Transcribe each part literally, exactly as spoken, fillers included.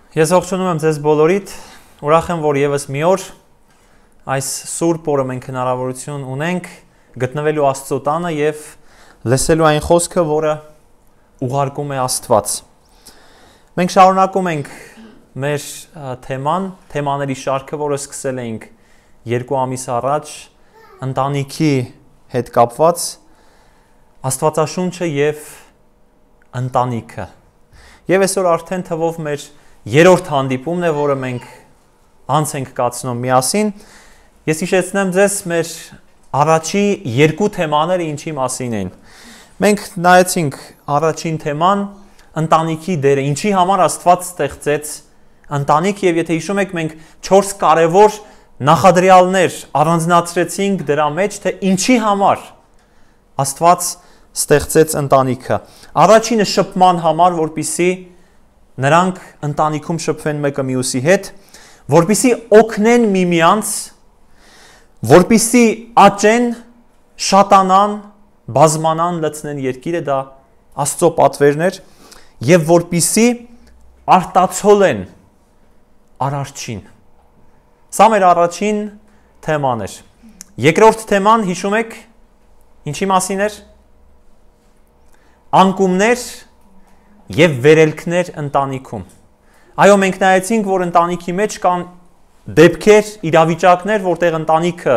Ես ողջունում եմ ձեզ բոլորիդ, ուրախ եմ, որ եւս մի օր այս սուրբ օրը մենք հնարավորություն ունենք գտնվելու Աստծո տանը եւ լսելու այն խոսքը, որը ուղարկում է Աստված։ Մենք շարունակում ենք մեր թեման, թեմաների շարքը, որը սկսել էինք երկու ամիս առաջ, ընտանիքի հետ կապված, Աստվածաշունչը եւ ընտանիքը։ Եվ այսօր արդեն թվով մեր երրորդ հանդիպումն է, որը մենք անց ենք կացնում միասին։ Ես հիշեցնեմ ձեզ մեր առաջի երկու թեմաները ինչի մասին են։ Մենք նայեցինք առաջին թեման ընտանիքի դերը, ինչի համար Աստված ստեղծեց ընտանիք, եւ եթե հիշում եք, մենք չորս կարևոր նախադրյալներ առանձնացրեցինք դրա մեջ, թե ինչի համար Աստված ստեղծեց ընտանիքը։ Առաջինը շփման համար, որպիսի նրանք ընտանիքում շփվեն մեկը մյուսի հետ, որպիսի օգնեն միմյանց, որպիսի աճեն, շատանան, բազմանան, լցնեն երկիրը, դա Աստծո պատվերն էր, եւ որպիսի արտացոլեն արարչին։ Սա մեր առաջին թեման էր։ Երկրորդ թեման, հիշում եք, ինչի մասին էր։ Անկումներ եւ վերելքներ ընտանիքում։ Այո, մենք նայեցինք, որ ընտանիքի մեջ կան դեպքեր, իրավիճակներ, որտեղ ընտանիքը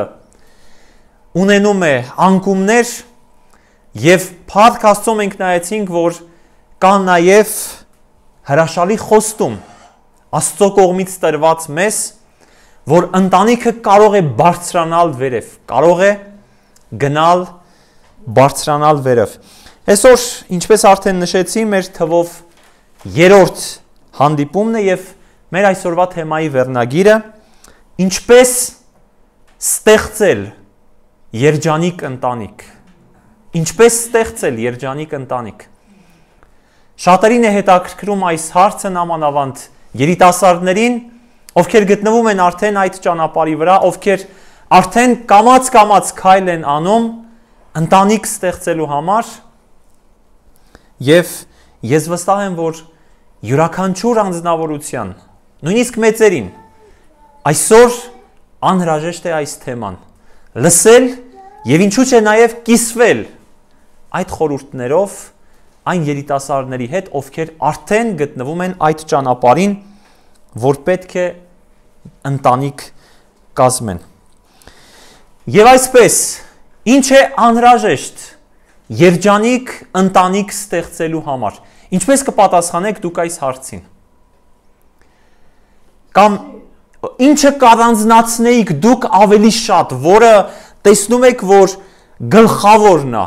ունենում է անկումներ, եւ փառք Աստծո մենք նայեցինք, որ կան նաեւ հրաշալի խոստում Աստծո կողմից տրված մեզ, որ ընտանիքը կարող է բարձրանալ վերև, կարող է գնալ բարձրանալ վերև։ Այսօր, ինչպես արդեն նշեցի, մեր թվով երրորդ հանդիպումն է եւ մեր այսօրվա թեմայի վերնագիրը ինչպես ստեղծել երջանիկ ընտանիք։ Ինչպես ստեղծել երջանիկ ընտանիք։ Շատերին է հետաքրքրում այս հարցը, նամանավանդ երիտասարդներին, ովքեր գտնվում են արդեն այդ ճանապարհի վրա, ովքեր արդեն կամաց-կամաց քայլ են անում ընտանիք ստեղծելու համար։ Եվ ես վստահ եմ, որ յուրաքանչյուր անձնավորության, նույնիսկ մեծերին, այսօր անհրաժեշտ է այս թեման լսել եւ ինչու՞ չէ նաեւ կիսվել այդ խորհուրդներով այն երիտասարդների հետ, ովքեր արդեն գտնվում են այդ ճանապարհին, որ պետք է ընտանիք կազմեն։ Եվ այսպես, ինչ է անհրաժեշտ երջանիկ ընտանիք ստեղծելու համար։ Ինչպես կպատասխանեք դուք այս հարցին։ Կամ ինչը կառանձնացնեիք դուք ավելի շատ, որը տեսնում եք, որ գլխավորն է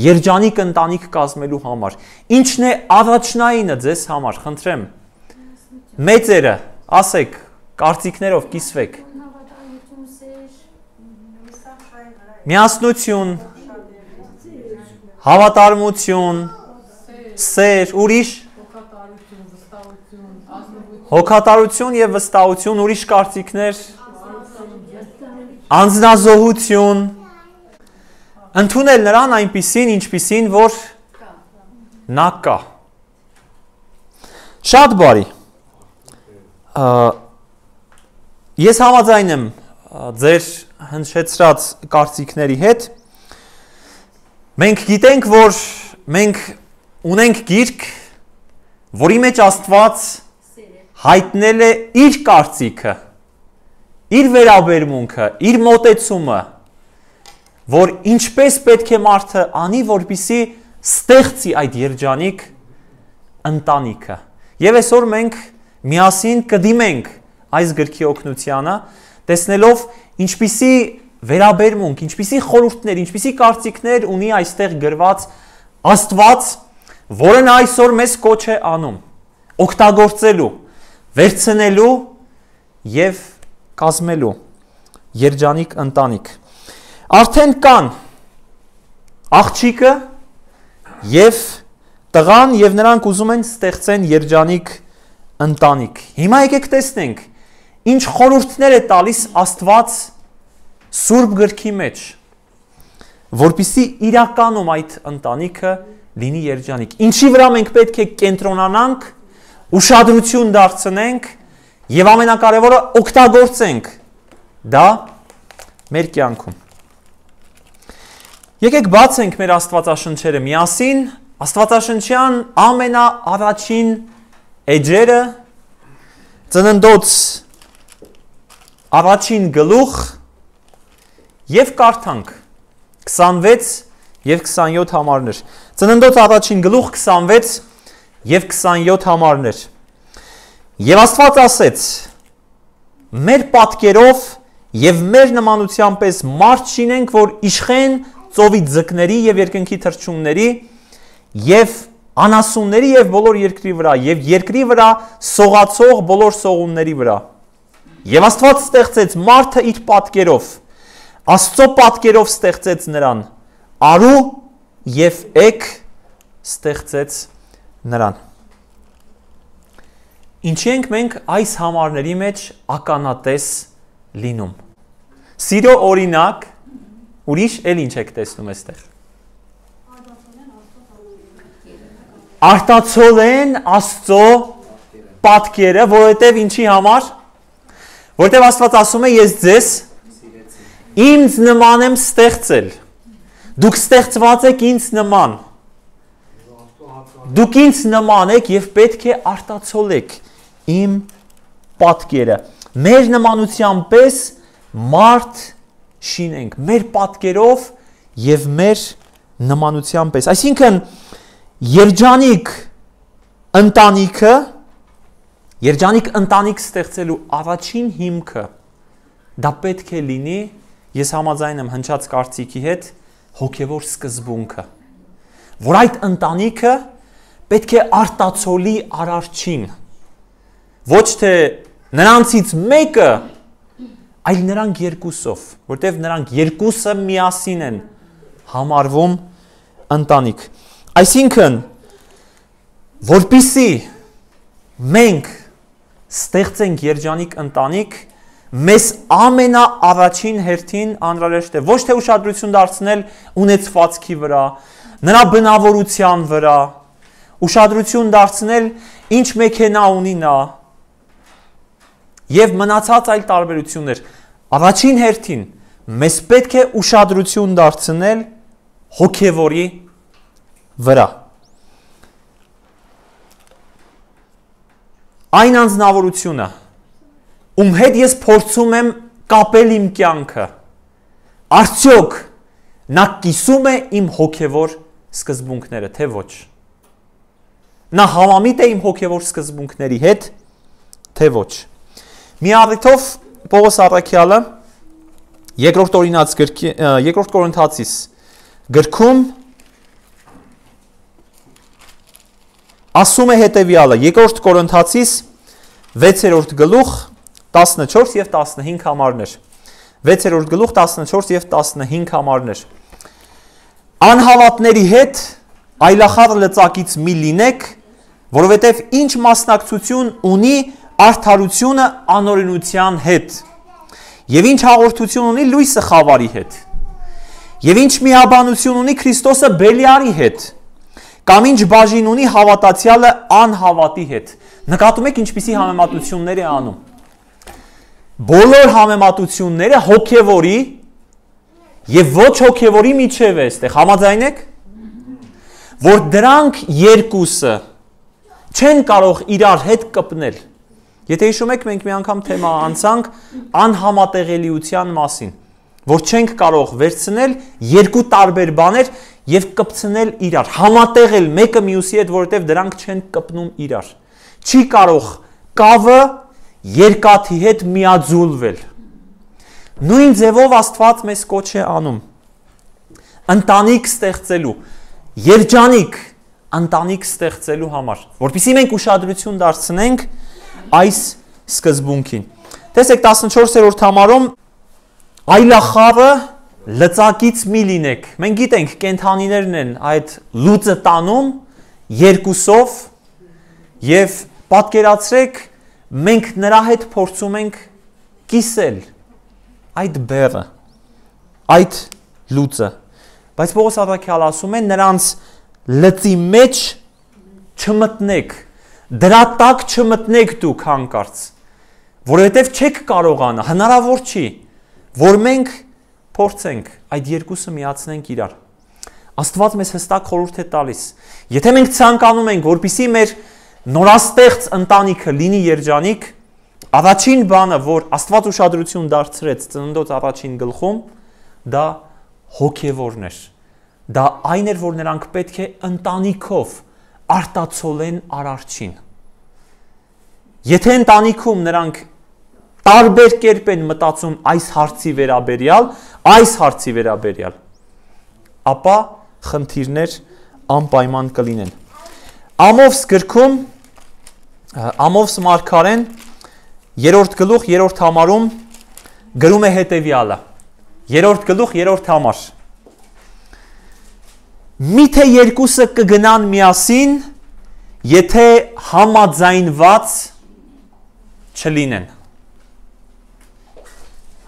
երջանիկ ընտանիք կազմելու համար։ Ինչն է առաջնայինը ձեզ համար, խնդրեմ։ Մեծերը, ասեք, կարծիքներով կիսվեք։ Միասնություն, հավատարմություն, սեր, ուրիշ հոգատարություն եւ վստահություն, ուրիշ կարծիքներ, անձնազոհություն, ընդունել նրան այնպիսին, ինչպիսին, որ նա կա։ Շատ բարի։ Ես համաձայն եմ ձեր հնչեցրած կարծիքների հետ։ Մենք գիտենք, որ մենք ունենք գիրք, որի մեջ Աստված հայտնել է իր կարծիքը, իր վերաբերմունքը, իր մոտեցումը, որ ինչպես պետք է մարդը անի, որպեսզի ստեղծի այդ երջանիկ ընտանիքը։ Եվ այսօր մենք միասին կդիմենք այս գրքի օգնությանը, տեսնելով ինչպիսի վերաբերմունք, ինչպիսի խորհուրդներ, ինչպիսի կարծիքներ ունի այստեղ գրված Աստված, որը նա այսօր մեզ կոչ է անում, օգտագործելու, վերցնելու եւ կազմելու երջանիկ ընտանիք։ Արդեն կան աղջիկը եւ տղան եւ նրանք ուզում են ստեղծեն երջանիկ ընտանիք։ Հիմա եկեք տեսնենք, ինչ խորհուրդներ է տալիս Աստված Սուրբ գրքի մեջ, որպեսզի իրականում այդ ընտանիքը լինի երջանիկ։ Ինչի վրա մենք պետք է կենտրոնանանք, ուշադրություն դարձնենք եւ ամենակարևորը օգտագործենք դա մեր կյանքում։ Եկեք բացենք մեր Աստվածաշնչերը միասին, Աստվածաշնչյան ամենաառաջին էջերը, Ծննդոց առաջին գլուխ եւ կարդանք քսանվեց եւ քսանյոթ համարներ։ Ծննդոց առաջին գլուխ քսանվեց եւ քսանյոթ համարներ։ Եվ Աստված ասեց. մեր պատկերով եւ մեր նմանության պես մարդ շինենք, որ իշխեն ծովի ձկների եւ երկնքի թռչունների եւ անասունների եւ բոլոր երկրի վրա եւ երկրի վրա սողացող բոլոր սողունների վրա։ Եվ Աստված ստեղծեց մարդը իր պատկերով, Աստծո պատկերով ստեղծեց նրան, արու եւ էգ ստեղծեց նրան։ Ինչի ենք մենք այս համարների մեջ ականատես լինում։ Սիրո օրինակ, ուրիշ էլ ինչ եք տեսնում այստեղ։ Արտացոլեն Աստծո պատկերը, որովհետև ինչի համար, որովհետև Աստված ասում է, ես ձեզ ինձ նման եմ ստեղծել, դուք ստեղծված եք ինձ նման, դուք ինձ նման եք և պետք է արտացոլեք իմ պատկերը, մեր նմանության պես մարդ շինենք, մեր պատկերով և մեր նմանության պես, այսինքն երջանիկ ընտանիքը, երջանիկ ընտանիք ստեղծելու առաջին հիմքը, դա պետք է լինի, ես համաձայն եմ հնչած կարծիքի հետ, հոգևոր սկզբունքը, որ այդ ընտանիքը պետք է արտացոլի արարչին, ոչ թե նրանցից մեկը, այլ նրանք երկուսով, որտև նրանք երկուսը միասին են համարվում ընտանիք։ Այսինքն, որպիսի մենք ստեղծենք երջանիկ ընտանիք, մեզ ամենաառաջին հերթին անհրաժեշտ է ոչ թե ուշադրություն դարձնել ունեցվածքի վրա, նրա բնավորության վրա, ուշադրություն դարձնել ինչ մեքենա ունի նա եւ մնացած այլ տարբերություններ։ Առաջին հերթին մեզ պետք է ուշադրություն դարձնել հոգևորի վրա։ Այն անձնավորությունը, ում հետ ես փորձում եմ կապել իմ կյանքը, արդյոք նա կիսում է իմ հոգևոր սկզբունքները, թե ոչ։ Նա համամիտ է իմ հոգևոր սկզբունքների հետ, թե ոչ։ Մի առիթով Պողոս առաքյալը երկրորդ օրինաց գրքի, երկրորդ Կորինթացիս գրքում ասում է հետևյալը, երկրորդ Կորինթացիս վեցերորդ գլուխ տասնչորս եւ տասնհինգ համարներ։ վեցերորդ գլուխ տասնչորս եւ տասնհինգ համարներ։ Անհավատների հետ այլախառ լծակից մի լինեք, որովհետև ինչ մասնակցություն ունի արդարությունը անօրենության հետ, եւ ինչ հաղորդություն ունի լույսը խավարի հետ, եւ ինչ միաբանություն ունի Քրիստոսը Բելիարի հետ, կամ ինչ բաժին ունի հավատացյալը անհավատի հետ։ Նկատում եք ինչպիսի համեմատություններ է անում։ Բոլոր համեմատությունները հոգևորի եւ ոչ հոգևորի միջև է այստեղ, համաձայն եք, որ դրանք երկուսը չեն կարող իրար հետ կպնել։ Եթե հիշում եք, մենք մի անգամ թեմա անցանք անհամատեղելիության մասին, որ չենք կարող վերցնել երկու տարբեր բաներ եւ կպցնել իրար, համատեղել մեկը մյուսի հետ, որովհետեւ դրանք չեն կպնում իրար։ Չի կարող կավը երկաթի հետ միաձուլվել։ Նույն ձևով Աստված մեզ կոչ է անում ընտանիք ստեղծելու, երջանիկ ընտանիք ստեղծելու համար, որպեսզի մենք ուշադրություն դարձնենք այս սկզբունքին։ Տեսեք տասնչորսերորդ համարում այլախառը լծակից մի լինեք։ Մենք գիտենք կենդանիներն են այդ լուծը տանում երկուսով եւ պատկերացրեք մենք նրա հետ փորձում ենք կիսել այդ բեռը, այդ լուծը։ Բայց Պողոս առաքյալը ասում է նրանց լծի մեջ չմտնեք, Դրա տակ չմտնեք դուք հանկարծ, որովհետև չեք կարողանա, հնարավոր չի, որ մենք փորձենք այդ երկուսը միացնենք իրար։ Աստված մեզ հստակ խորհուրդ է տալիս։ Եթե մենք ցանկանում ենք, որպեսզի մեր նորաստեղծ ընտանիքը լինի երջանիկ, առաջին բանը, որ Աստված ուշադրություն դարձրեց ծննդոց առաջին գլխում, դա հոգևորն էր։ Դա այն էր, որ նրանք պետք է ընտանիքով արտացոլեն Արարչին։ Եթե ընտանիքում նրանք տարբեր կերպ են մտածում այս հարցի վերաբերյալ, այս հարցի վերաբերյալ, ապա խնդիրներ անպայման կլինեն։ Ամովս գրքում, Ամովս մարգարեն երրորդ գլուխ, երրորդ համարում գրում է հետևյալը։ Երրորդ գլուխ, երրորդ համար։ Միթե երկուսը կգնան միասին, եթե համաձայնված չլինեն։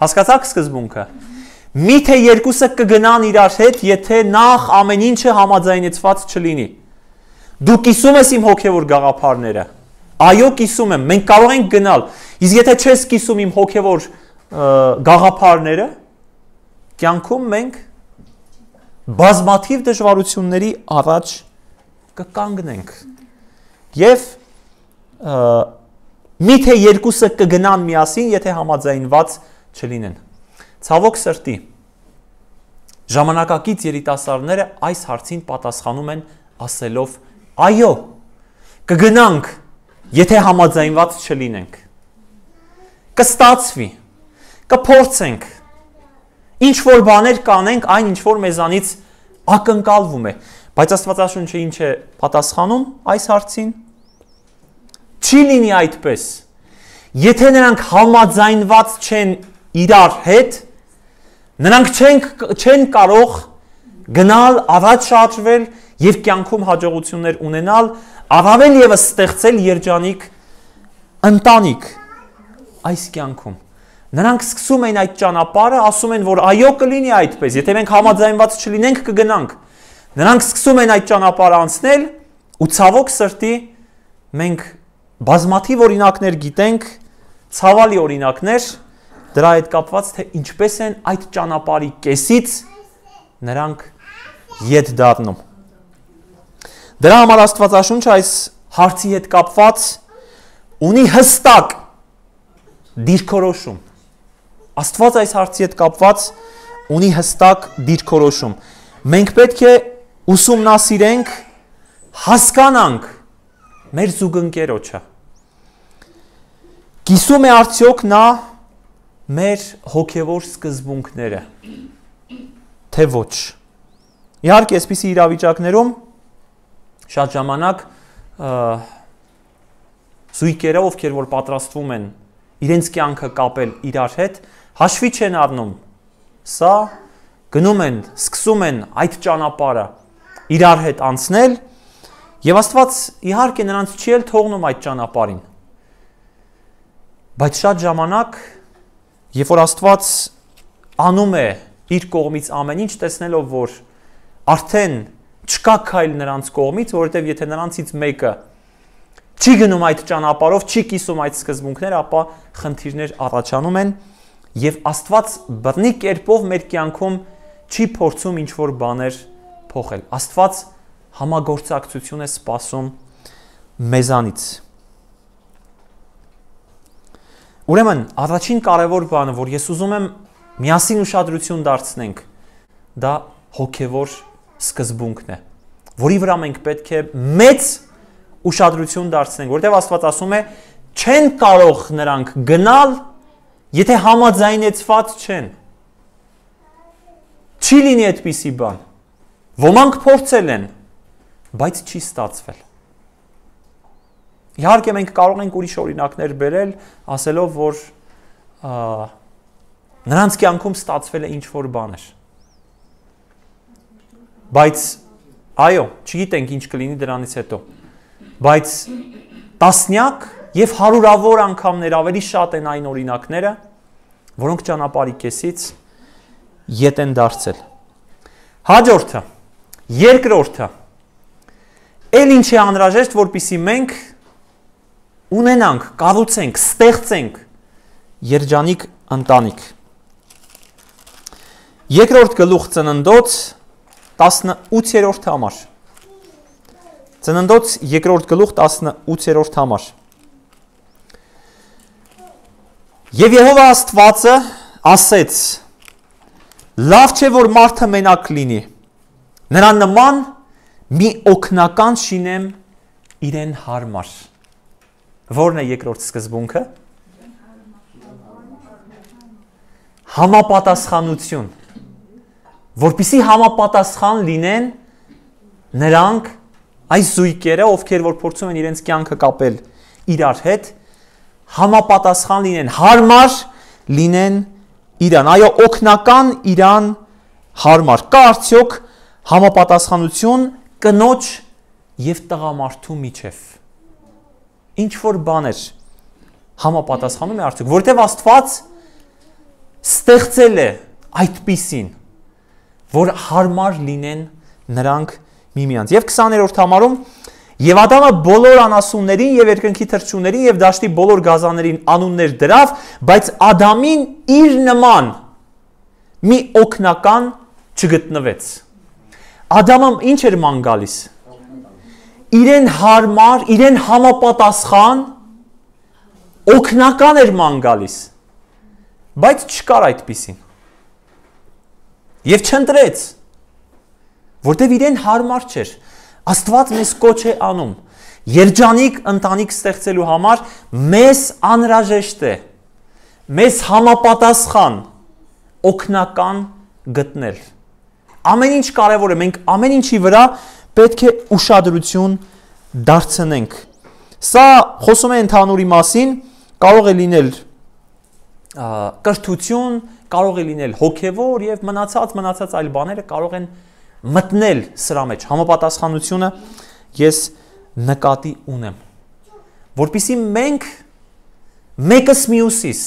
Հասկացաք սկզբունքը։ Միթե երկուսը կգնան իրար հետ, եթե նախ ամեն ինչը համաձայնեցված չլինի։ Դու կիսում ես իմ հոգևոր գաղափարները։ Այո, կիսում եմ, մենք կարող ենք գնալ։ Իսկ եթե չես կիսում իմ հոգևոր գաղափարները, կյանքում մենք բազմաթիվ դժվարությունների առաջ կկանգնենք։ Եվ միթե երկուսը կգնան միասին, եթե համաձայնված չլինեն։ Ցավոք սրտի, ժամանակակից երիտասարդները այս հարցին պատասխանում են ասելով. այո, կգնանք, եթե համաձայնված չլինենք։ Կստացվի, կփորձենք, ինչ որ բաներ կանենք, այն ինչ որ մեզանից ակնկալվում է։ Բայց Աստվածաշունչը ինչ է պատասխանում այս հարցին։ Չի լինի այդպես։ Եթե նրանք համաձայնված չեն իրար հետ, նրանք չեն, չեն կարող գնալ, առաջ շարժվել և կյանքում հաջողություններ ունենալ, առավել ևս ստեղծել երջանիկ ընտանիք այս կյանքում։ Նրանք սկսում են այդ ճանապարհը, ասում են, որ այո կլինի այդպես, եթե մենք համաձայնված չլինենք, կգնանք։ Նրանք սկսում են այդ ճանապարհը անցնել, ու ցավոք սրտի մենք բազմաթիվ օրինակներ գիտենք, ցավալի օրինակներ, դրա հետ կապված, թե ինչպես են այդ ճանապարհի կեսից նրանք ետ դառնում։ Դրա համար Աստվածաշունչը այս հարցի հետ կապված ունի հստակ դիրքորոշում։ Աստված այս հարցի հետ կապված ունի հստակ դիրքորոշում։ Մենք պետք է ուսումնասիրենք, հասկանանք մեր զուգընկերոջը։ Կիսում է արդյոք նա մեր հոգևոր սկզբունքները, թե ոչ։ Իհարկե, այսպիսի իրավիճակներում շատ ժամանակ զույգերը, ովքեր որ պատրաստվում են իրենց կյանքը կապել իրար հետ, հաշվի չեն առնում սա, գնում են, սկսում են այդ ճանապարհը իրար հետ անցնել, եւ Աստված իհարկե նրանց չի էլ թողնում այդ ճանապարհին։ Բայց շատ ժամանակ, երբ որ Աստված անում է իր կողմից ամեն ինչ, տեսնելով, որ արդեն չկա քայլ նրանց կողմից, որովհետև եթե նրանցից մեկը չի գնում այդ ճանապարհով, չի կիսում այդ սկզբունքները, ապա խնդիրներ առաջանում են եւ Աստված բռնի կերպով մեր կյանքում չի փորձում ինչ որ բաներ փոխել։ Աստված համագործակցություն է սպասում մեզանից։ Ուրեմն, առաջին կարևոր բանը, որ ես ուզում եմ միասին ուշադրություն դարձնենք, դա հոգևոր սկզբունքն է, որի վրա մենք պետք է մեծ ուշադրություն դարձնենք, որտեղ Աստված ասում է, չեն կարող նրանք գնալ, եթե համաձայնեցված չեն։ Չի լինի այդպիսի բան։ Ոմանք փորձել են, բայց չի ստացվել։ Իհարկե մենք կարող ենք ուրիշ օրինակներ բերել, ասելով, որ նրանց կյանքում ստացվել է ինչ-որ բաներ։ Բայց այո, չգիտենք ինչ կլինի դրանից հետո։ Բայց տասնյակ եւ հարյուրավոր անգամներ ավելի շատ են այն օրինակները, որոնք ճանապարհի կեսից ետ են դարձել։ Հաջորդը, երկրորդը, էլ ինչ է անհրաժեշտ, որպեսզի մենք ունենանք, կառուցենք, ստեղծենք երջանիկ ընտանիք։ Երկրորդ գլուխ Ծննդոց տասնութերորդ համար։ Ծննդոց երկրորդ գլուխ տասնութերորդ համար։ Եվ Եհովա Աստվածը ասեց. լավ չէ, որ մարդը մենակ լինի, նրան նման մի օգնական շինեմ իրեն հարմար։ Որն է երկրորդ սկզբունքը։ Համապատասխանություն, որպեսզի համապատասխան լինեն նրանք այս զույգերը, ովքեր որ փորձում են իրենց կյանքը կապել իրար հետ, համապատասխան լինեն, հարմար լինեն իրան, այո, օգնական իրան հարմար։ Կա արդյոք համապատասխանություն կնոջ եւ տղամարդու միջև։ Ինչ որ բաներ համապատասխանում է արդյոք, որտեղ Աստված ստեղծել է այդպիսին, որ հարմար լինեն նրանք միմյանց։ Եվ քսաներորդ համարում Եվ Ադամը բոլոր անասուններին եւ երկնքի թռչուններին եւ դաշտի բոլոր գազաններին անուններ դրավ, բայց Ադամին իր նման մի օգնական չգտնվեց։ Ադամը ինչ էր ման գալիս։ Իրեն հարմար, իրեն համապատասխան օգնական էր ման գալիս, բայց չկար այդպիսին։ Եվ չընտրեց, որտեվ իրեն հարմար չէր։ Աստված մեզ կոչ է անում երջանիկ ընտանիք ստեղծելու համար, մեզ անհրաժեշտ է մեզ համապատասխան օգնական գտնել։ Ամեն ինչ կարևոր է, մենք ամեն ինչի վրա պետք է ուշադրություն դարձնենք։ Սա խոսում է ընդհանուրի մասին, կարող է լինել կրթություն, կարող է լինել հոգևոր եւ մնացած մնացած այլ բաները կարող են մտնել սրա մեջ, համապատասխանությունը ես նկատի ունեմ, որպեսզի մենք մեկս մյուսիս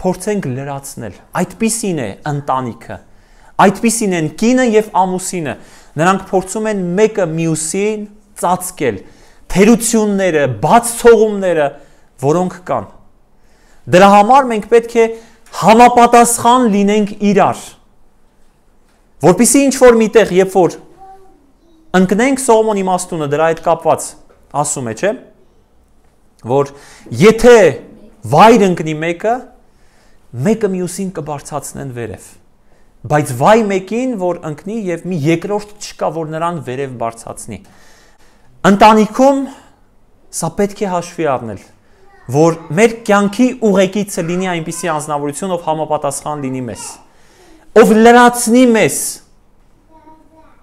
փորձենք լրացնել, այդպիսին է ընտանիքը, այդպիսին են կինը եւ ամուսինը, նրանք փորձում են մեկը մյուսին ծածկել, թերությունները, բաց ցողումները, որոնք կան։ Դրա համար մենք պետք է համապատասխան լինենք իրար, որպեսզի ինչ որ միտեղ, երբ որ ընկնենք, Սողոմոն իմաստունը դրա հետ կապված ասում է, չէ, որ եթե վայր ընկնի մեկը, մեկը մյուսին կբարձրացնեն վերև, բայց վայ մեկին, որ ընկնի եւ մի երկրորդ չկա, որ նրան վերև բարձրացնի։ Ընտանիքում սա պետք է հաշվի առնել, որ մեր կյանքի ուղեկիցը լինի այնպիսի անձնավորություն, ով համապատասխան լինի մեզ, ով լրացնի մեզ,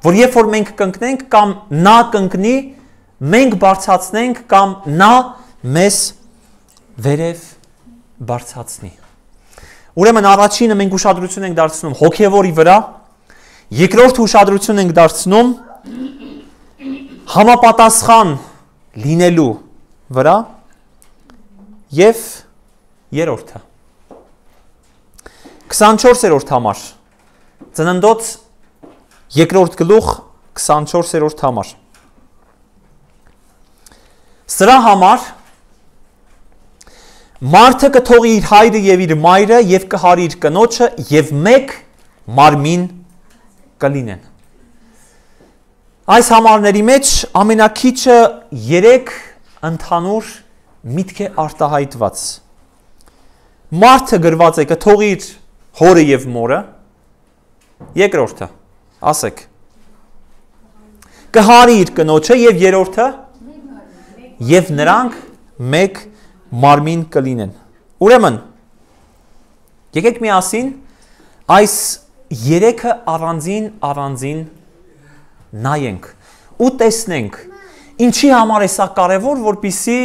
որ երբ որ մենք կընկնենք կամ նա կընկնի, մենք բարձրացնենք կամ նա մեզ վերև բարձրացնի։ Ուրեմն առաջինը մենք ուշադրություն ենք դարձնում հոգևորի վրա, երկրորդ ուշադրություն ենք դարձնում համապատասխան լինելու վրա եւ երրորդը քսանչորսերորդ համար Ծննդոց երկրորդ գլուխ քսանչորսերորդ համար Սրա համար մարդը կթողի իր հայրը եւ իր մայրը եւ կհարի իր կնոջը եւ մեկ մարմին կլինեն։ Այս համարների մեջ ամենակիչը երեք ընդհանուր միտք է արտահայտված։ Մարդը գրված է կթողի իր հորը եւ մորը, երկրորդը, ասեք, կհարի իր կնոջը եւ երրորդը, եւ նրանք մեկ մարմին կլինեն։ Ուրեմն, եկեք միասին այս երեքը առանձին առանձին նայենք ու տեսնենք ինչի համար է սա կարևոր, որպեսզի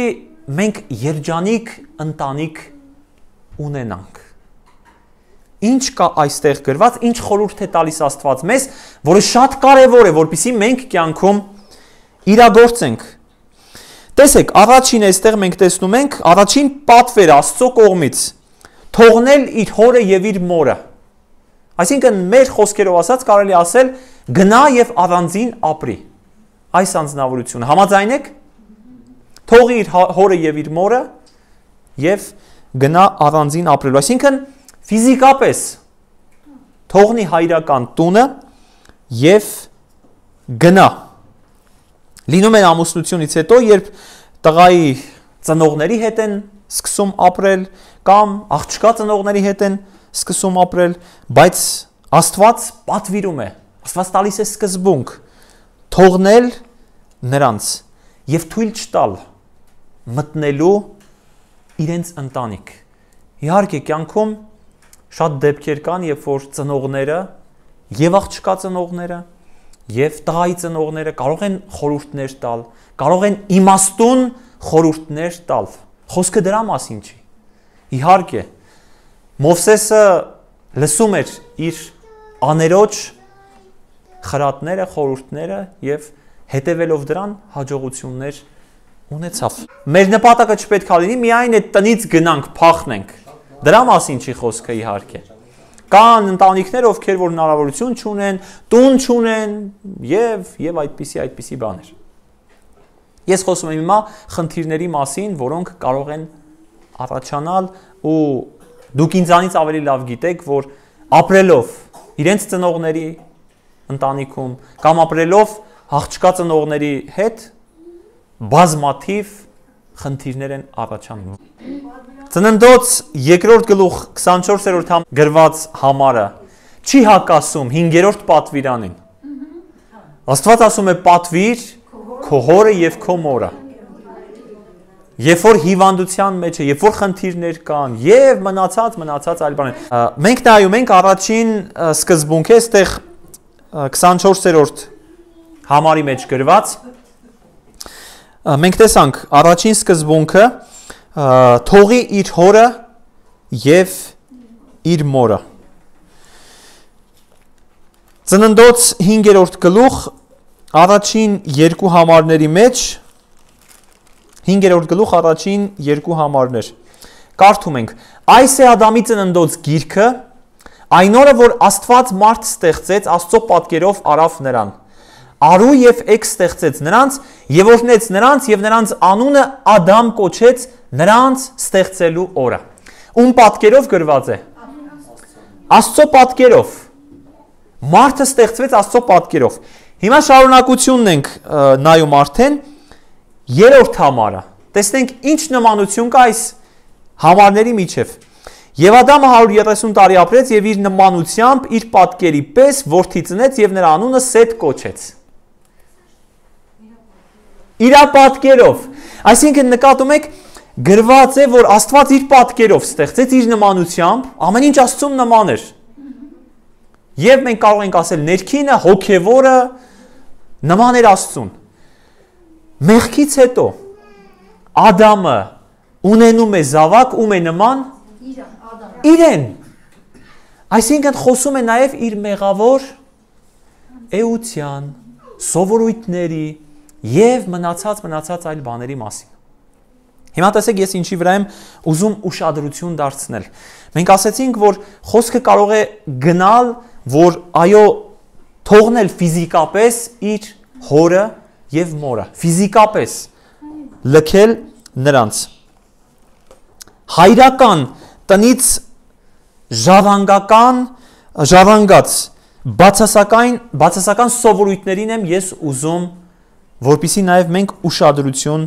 մենք երջանիկ ընտանիք ունենանք։ Ինչ կա այստեղ գրված, ինչ խորհուրդ է տալիս Աստված մեզ, որը շատ կարևոր է, որպեսզի մենք կյանքում իրագործենք։ Տեսեք, առաջին այստեղ մենք տեսնում ենք, առաջին պատվերը Աստծո կողմից թողնել իր հորը եւ իր մորը։ Այսինքն մեր խոսքերով ասած կարելի ասել գնա եւ առանձին ապրի։ Այս անձնավորությունը համաձայն եք։ թողի իր հորը եւ իր մորը եւ գնա առանձին ապրելու։ Այսինքն ֆիզիկապես թողնի հայրական տունը եւ գնա։ Լինում է ամուսնությունից հետո, երբ տղայի ծնողների հետ են սկսում ապրել կամ աղջկա ծնողների հետ են սկսում ապրել, բայց Աստված պատվիրում է, Աստված տալիս է սկզբունք թողնել նրանց եւ թույլ չտալ մտնելու իրենց ընտանիք։ Իհարկե կյանքում շատ դեպքեր կան, երբ որ ծնողները եւ աղջկա ծնողները եւ տղայի ծնողները կարող են խորհուրդներ տալ, կարող են իմաստուն խորհուրդներ տալ։ Խոսքը դրա մասին չի։ Իհարկե Մովսեսը լսում էր իր աներոջ խրատները, խորհուրդները եւ հետևելով դրան հաջողություններ ունեցավ։ Մեր նպատակը չպետք է լինի միայն այդ տնից գնանք, փախնենք։ Դրա մասին չի խոսքը իհարկե։ Կան ընտանիքներ, ովքեր որ հնարավորություն չունեն, տուն չունեն եւ եւ այդպիսի այդպիսի բաներ։ Ես խոսում եմ հիմա խնդիրների մասին, որոնք կարող են առաջանալ ու դուք ինձանից ավելի լավ գիտեք, որ ապրելով իրենց ծնողների ընտանիքում կամ ապրելով աղջկա ծնողների հետ բազմաթիվ խնդիրներ են առաջանում։ Ծննդոց երկրորդ գլուխ քսանչորսերորդ համ գրված համարը չի հակասում հինգերորդ պատվիրանին։ Աստված ասում է պատվիր քո հորը եւ քո մորը։ Երբ որ հիվանդության մեջ է, երբ որ խնդիրներ կան եւ մնացած մնացած այլ բաներ։ Մենք նայում ենք առաջին սկզբունքը, այստեղ քսանչորսերորդ համարի մեջ գրված։ Մենք տեսանք առաջին սկզբունքը թողի իր հորը եւ իր մորը։ Ծննդոց հինգերորդ գլուխ առաջին երկու համարների մեջ հինգերորդ գլուխ առաջին երկու համարներ։ Կարդում ենք. այս է Ադամի ծննդոց գիրքը, այն օրը, որ Աստված մարդ ստեղծեց, Աստծո պատկերով արավ նրան։ Արու եւ էգ ստեղծեց նրանց եւ օրհնեց նրանց եւ նրանց անունը Ադամ կոչեց նրանց ստեղծելու օրը։ Ում պատկերով գրված է։ Աստծո պատկերով։ Մարդը ստեղծվեց Աստծո պատկերով։ Հիմա շարունակությունն ենք նայում արդեն երրորդ համարը։ Տեսնենք ինչ նմանություն կա այս համարների միջև։ Եվ Ադամը հարյուր երեսուն տարի ապրեց եւ իր նմանությամբ իր պատկերի պես որդի ծնեց եւ նրա անունը Սեթ կոչեց։ Իր պատկերով։ Այսինքն նկատում եք գրված է, որ Աստված իր պատկերով ստեղծեց իր նմանությամբ, ամեն ինչ Աստծուն նման էր։ Եվ մենք կարող ենք ասել ներքինը, հոգևորը նման էր Աստծուն։ Մեղքից հետո Ադամը ունենում է զավակ, ում է նման իրեն։ Այսինքն խոսում է նաև իր մեղավոր էության, սովորույթների եւ մնացած մնացած այլ բաների մասին։ Հիմա տեսեք ես ինչի վրա եմ ուզում ուշադրություն դարձնել։ Մենք ասացինք, որ խոսքը կարող է գնալ, որ այո, թողնել ֆիզիկապես իր հորը եւ մորը, ֆիզիկապես լքել նրանց։ Հայրական տնից ժառանգական ժառանգած բացասական բացասական սովորույթներին եմ ես ուզում, որպեսզի նաև մենք ուշադրություն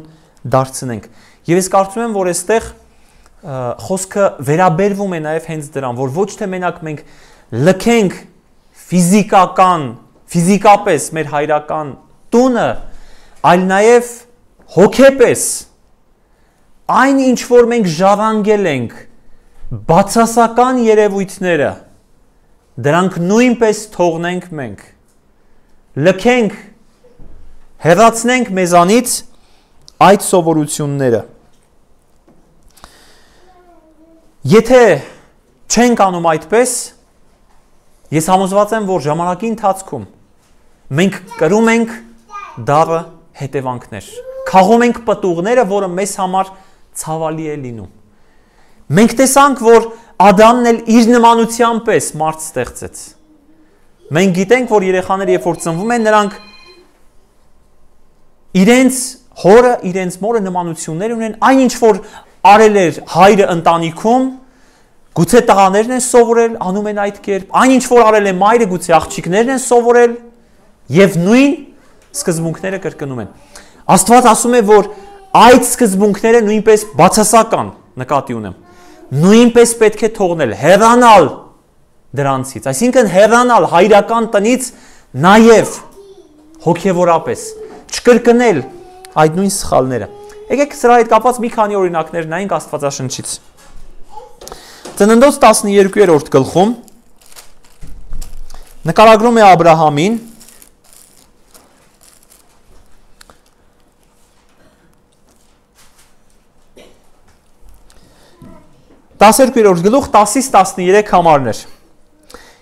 դարձնենք։ Եվ ես կարծում եմ, որ այստեղ խոսքը վերաբերվում է նաև հենց դրան, որ ոչ թե մենակ մենք լքենք ֆիզիկական, ֆիզիկապես մեր հայրական տունը, այլ նաև հոգեպես այն ինչ որ մենք ժառանգել ենք բացասական երևույթները, դրանք նույնպես թողնենք մենք, լքենք, հեռացնենք մեզանից այդ սովորությունները։ Եթե չենք անում այդպես, ես համոզված եմ, որ ժամանակի ընթացքում մենք կրում ենք դառը հետևանքներ, քաղում ենք պտուղները, որը մեզ համար ցավալի է լինում։ Մենք տեսանք, որ Ադամն էլ իր նմանությամբ պես մարդ ստեղծեց։ Մենք գիտենք, որ երեխաները երբ որ ծնվում են, նրանք իրենց հորը իրենց մորը նմանություններ ունեն, այնինչ որ արել էր հայրը ընտանիքում, գուցե տղաներն են սովորել, անում են այդ կերպ, այնինչ որ արել է մայրը, գուցե աղջիկներն են սովորել եւ նույն սկզբունքները կրկնում են։ Աստված ասում է, որ այդ սկզբունքները նույնպես բացասական նկատի ունեմ։ Նույնպես պետք է թողնել, հեռանալ դրանցից, այսինքն հեռանալ հայրական տնից նաև հոգևորապես, չկրկնել այդ նույն սխալները։ Եկեք սրա հետ կապված մի քանի օրինակներ նայենք Աստվածաշնչից։ Ծննդոց տասներկուերորդ գլխում նկարագրում է Աբ รา համին, տասներկուերորդ գլուխ տասից տասներեք համարներ։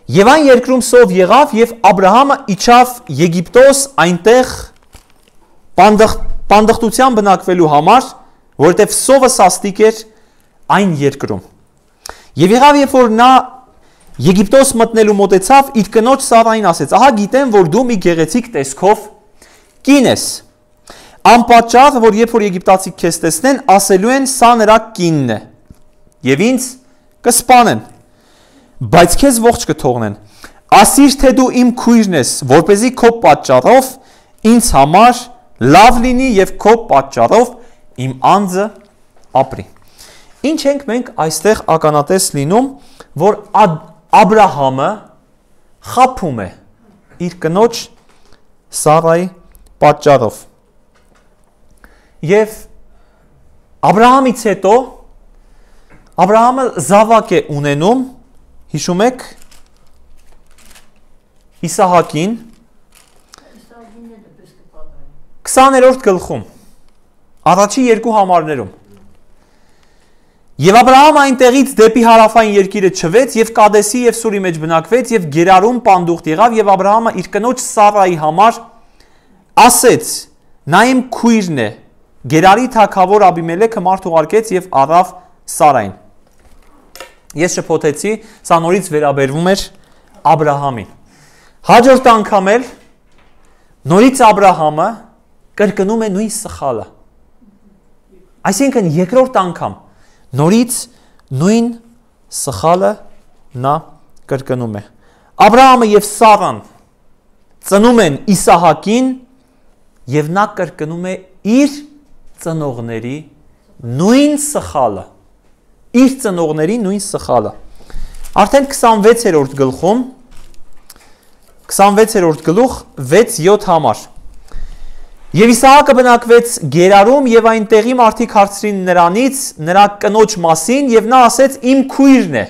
Եվ այն երկրում սով եղավ, եւ Աբ รา համը իջավ Եգիպտոս այնտեղ պանդխտության բնակվելու համար, որովհետև սովը սաստիկ էր այն երկրում։ Եվ եղավ, երբ որ նա Եգիպտոս մտնելու մոտեցավ, իր կնոջ Սարային ասեց. ահա գիտեմ, որ դու մի գեղեցիկ տեսքով կին ես։ Անպատճառ, որ երբ որ եգիպտացիք քեզ տեսնեն, ասելու են սա նրա կինն է, եւ ինձ կսպանեն, բայց քեզ ողջ կթողնեն։ Ասիր, թե դու իմ քույրն ես, որպեսզի քո պատճառով ինձ համար լավ լինի եւ քո պատճառով իմ անձը ապրի։ Ինչ ենք մենք այստեղ ականատես լինում, որ Աբ รา համը խաբում է իր կնոջ Սարայի պատճառով։ Եվ Աբ รา համից հետո Աբ รา համը զավակ է ունենում, հիշում եք, Իսահակին, քսաներորդ գլխում, առաջի երկու համարներում։ Եվ Աբ รา համը այնտեղից դեպի հարավային երկիրը չվեց եւ Կադեսի եւ Սուրի մեջ բնակվեց եւ Գերարում պանդուխտ եղավ եւ Աբ รา համը իր կնոջ Սարայի համար ասեց. նա իմ քույրն է։ Գերարի թագավոր Աբիմելեքը մարդ ուղարկեց եւ առավ Սարային։ Ես շփոթեցի, սա նորից վերաբերվում էր Աբ รา համին։ Հաջորդ անգամ էլ նորից Աբ รา համը կրկնում է նույն սխալը։ Այսինքն երկրորդ անգամ նորից նույն սխալը նա կրկնում է։ Աբ รา համը եւ Սարան ծնում են Իսահակին եւ նա կրկնում է իր ծնողների նույն սխալը։ Իր ծնողների նույն սխալը։ Արդեն քսանվեցերորդ գլխում, քսանվեցերորդ գլուխ վեց յոթ համար։ Եվ Իսահակը բնակվեց Գերարում եւ այնտեղի մարդիկ հարցրին նրանից նրա կնոջ մասին եւ նա ասեց իմ քույրն է,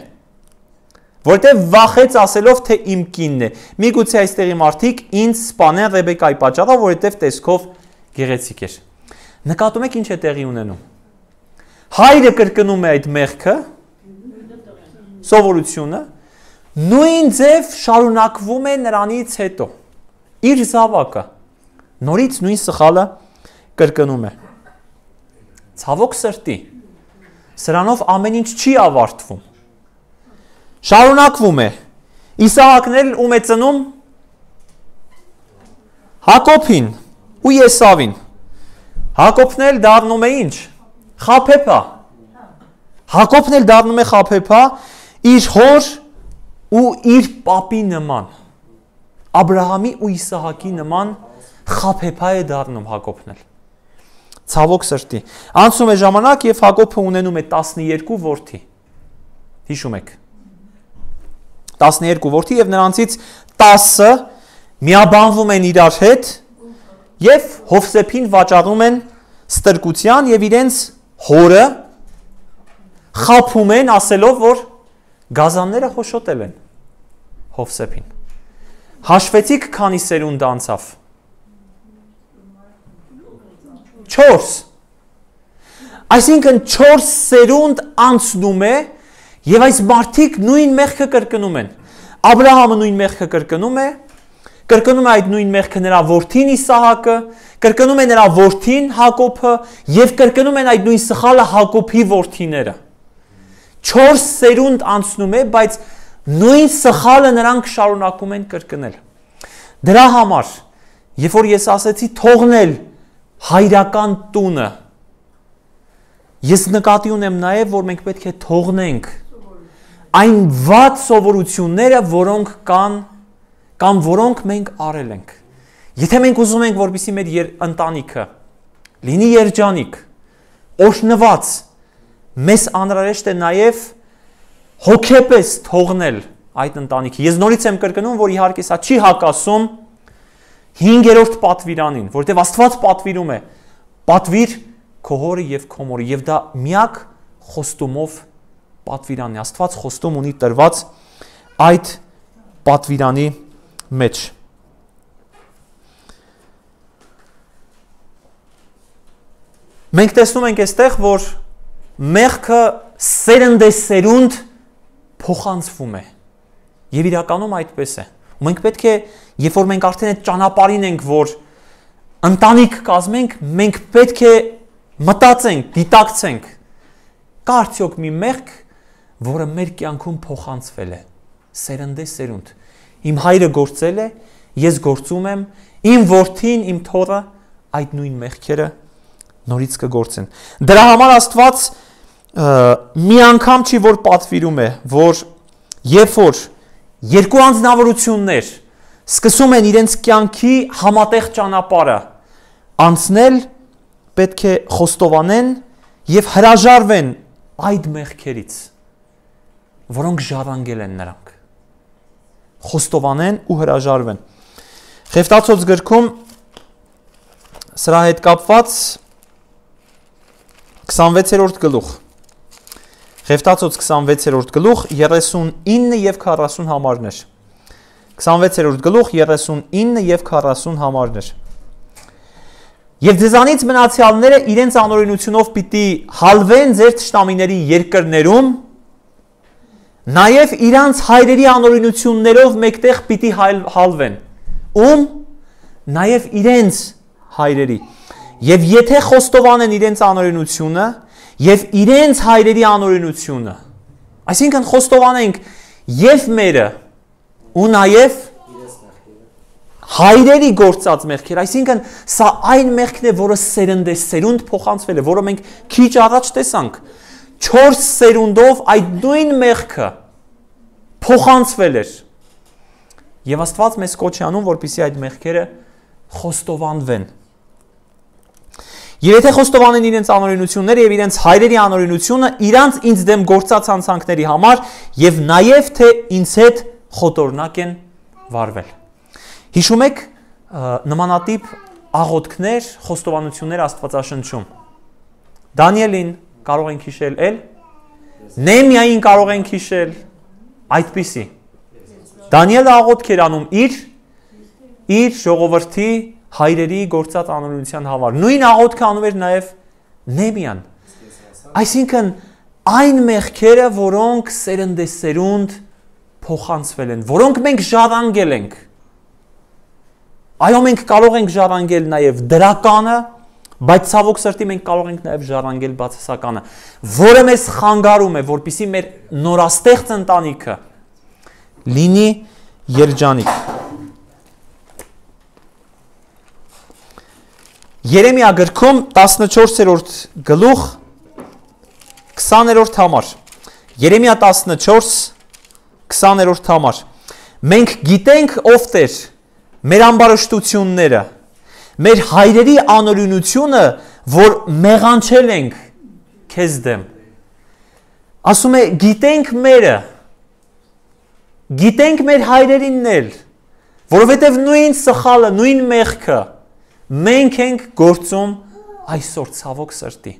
որտեղ վախեց ասելով թե իմ կինն է։ Միգուցե այստեղի մարդիկ ինձ սպանեն Ռեբեկայի պատճառով, որովհետեւ տեսքով գեղեցիկ էր։ Նկատում եք ինչ է տեղի ունենում։ Հայրը կրկնում է այդ մեղքը, սովորությունը, նույն ձև շարունակվում է նրանից հետո։ Իր զավակը նորից նույն սխալը կրկնում է։ Ցավոք սրտի, սրանով ամեն ինչ չի ավարտվում։ Շարունակվում է։ Իսահակն էլ ում է ծնում Հակոբին ու Եսավին։ Հակոբն էլ դառնում է ինչ։ Խաբեբա։ Հակոբն էլ դառնում է խաբեբա իր հոր ու իր պապի նման։ Աբ รา համի ու Իսահակի նման խաբեբա է դառնում Հակոբն էլ։ Ցավոք սրտի։ Անցնում է ժամանակ եւ Հակոբը ունենում է տասներկու որդի։ Հիշում եք։ տասներկու որդի եւ նրանցից տասը միաբանվում են իրար հետ եւ Հովսեփին վաճառում են ստրկության եւ իրենց հորը խաբում են ասելով, որ գազանները հոշոտել են Հովսեփին։ Հաշվեցիք քանի սերունդ անցավ։ չորս։ Այսինքն չորս սերունդ անցնում է եւ այս մարդիկ նույն մեղքը կրկնում են։ Աբ รา համը նույն մեղքը կրկնում է, կրկնում է այդ նույն մեղքը նրա որդին Իսահակը, կրկնում է նրա որդին Հակոբը եւ կրկնում են այդ նույն սխալը Հակոբի որդիները։ չորս սերունդ անցնում է, բայց նույն սխալը նրանք շարունակում են կրկնել։ Դրա համար, երբ որ ես ասեցի թողնել հայրական տունը։ Ես նկատի ունեմ նաև, որ մենք պետք է թողնենք այն վատ սովորությունները, որոնք կան կամ որոնք մենք արել ենք։ Եթե մենք ուզում ենք, որպեսզի մեր ընտանիքը լինի երջանիկ, օրհնված, մեզ անհրաժեշտ է նաև հոգեպես թողնել այդ ընտանիքը։ Ես նորից եմ կրկնում, որ իհարկե սա չի հակասում հինգերորդ պատվիրանին, որտեղ Աստված պատվիրում է, պատվիր քո հորը եւ քո մորը, եւ դա միակ խոստումով պատվիրանն է։ Աստված խոստում ունի տրված այդ պատվիրանի մեջ։ Մենք տեսնում ենք այստեղ, որ մեղքը սերնդեսերունդ փոխանցվում է։ Եվ իրականում այդպես է։ Ու մենք պետք է, երբ որ մենք արդեն այդ ճանապարհին ենք, որ ընտանիք կազմենք, մենք պետք է մտածենք, դիտակցենք, կա արդյոք մի մեղք, որը մեր կյանքում փոխանցվել է, սերնդեսերունդ։ Իմ հայրը գործել է, ես գործում եմ, իմ որդին, իմ թոռը այդ նույն մեղքերը նորից կգործեն։ Դրա համար Աստված մի անգամ չի որ պատվիրում է, որ երբ որ երկու անձնավորություններ սկսում են իրենց կյանքի համատեղ ճանապարհը անցնել, պետք է խոստովանեն եւ հրաժարվեն այդ մեղքերից, որոնք ժառանգել են նրանք։ Խոստովանեն ու հրաժարվեն։ Խեֆտացոց գրքում սրա հետ կապված քսանվեցերորդ գլուխ Խեֆտացոց քսանվեցերորդ գլուխ երեսունինը եւ քառասուն համարներ քսանվեցերորդ գլուխ երեսունինը եւ քառասուն համարներ Եվ ձեզանից մնացյալները իրենց անօրենությունով պիտի հալվեն ձեր թշնամիների երկրներում, նաև իրանց հայրերի անօրենություններով մեկտեղ պիտի հալվեն, ում նաև իրենց հայրերի։ Եվ եթե խոստովանեն իրենց անօրենությունը եւ իրենց հայրերի անօրենությունը, այսինքն խոստովանենք եւ մերը ու նաև հայրերի գործած մեղքեր, այսինքն սա այն մեղքն է, որը սերնդեսերունդ փոխանցվել է, որը մենք քիչ առաջ տեսանք, չորս սերունդով այդ նույն մեղքը փոխանցվել էր։ Եվ Աստված մեզ կոչ է անում, որպեսզի այդ մեղքերը խոստովանվեն։ Եվ եթե խոստովանեն իրենց անօրենությունները եւ իրենց հայրերի անօրենությունը, իրանց ինձ դեմ գործած հանցանքների համար եւ նաեւ թե ինձ հետ խոտորնակ են վարվել։ Հիշում եք նմանատիպ աղոթքներ, խոստովանություններ Աստվածաշնչում։ Դանիելին կարող ենք հիշել էլ, Նեհեմիային կարող ենք հիշել, այդպիսի։ Դանիելը աղոթք էր անում իր իր ժողովրդի հայրերի գործած անօրենության համար։ Նույն աղոթքը անում էր նաև Նեհեմիան։ Այսինքն այն մեղքերը, որոնք սերնդեսերունդ փոխանցվել են, որոնք մենք ժառանգել ենք։ Այո, մենք կարող ենք ժառանգել նաև դրականը, բայց ցավոք սրտի մենք կարող ենք նաև ժառանգել բացասականը, որը մեզ խանգարում է, որպեսզի մեր նորաստեղծ ընտանիքը լինի երջանիկ։ Երեմիա գրքում տասնչորսերորդ գլուխ քսաներորդ համար։ Երեմիա տասնչորս քսաներորդ համար։ Մենք գիտենք ով Տեր մեր ամբարշտությունները, մեր հայրերի անօրենությունը, որ մեղանչել ենք քեզ դեմ։ Ասում է գիտենք մերը, գիտենք մեր հայրերինն էլ, որովհետև նույն սխալը, նույն մեղքը մենք ենք գործում այսօր ցավոք սրտի։